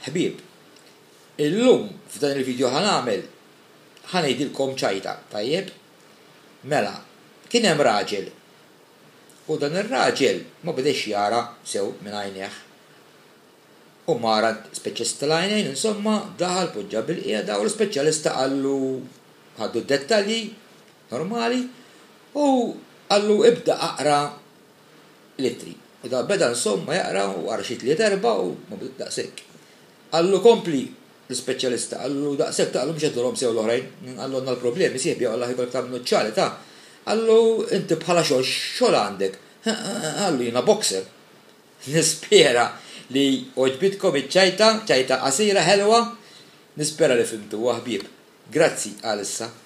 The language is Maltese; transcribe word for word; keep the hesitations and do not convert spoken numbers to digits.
Ħbieb, illum f'dan il-video ħa nagħmel ħa ngħidilkom ċajta, tajjeb? Mela, kien hemm raġel u dan ir-raġel ma bedex jara sew minn għajnejh. U mar għand speċjalista tal-għajnejn, insomma, daħal, poġġa bil-qiegħda u l-speċjalista qallu, ħaddu d-dettalji normali u qallu ibda aqra l-ittri. U da beda insomma jaqra u qara xi tliet erba' u ma daqshekk. Qallu kompli l-ispeċjalista, qallu daqshekk, qallu mhux qed sew l-oħrajn, qallu għandna l-problemi sieħbi, Allah jkollok tagħmlu ċali ta' qallu inti bħala xogħol xogħol għandek. Qallu jiena boxer. Nispera li għoġbitkom iċ-ċajta, ċajta qasira ħelwa, nispera li fhimtu, ħbieb. Grazzi għalissa.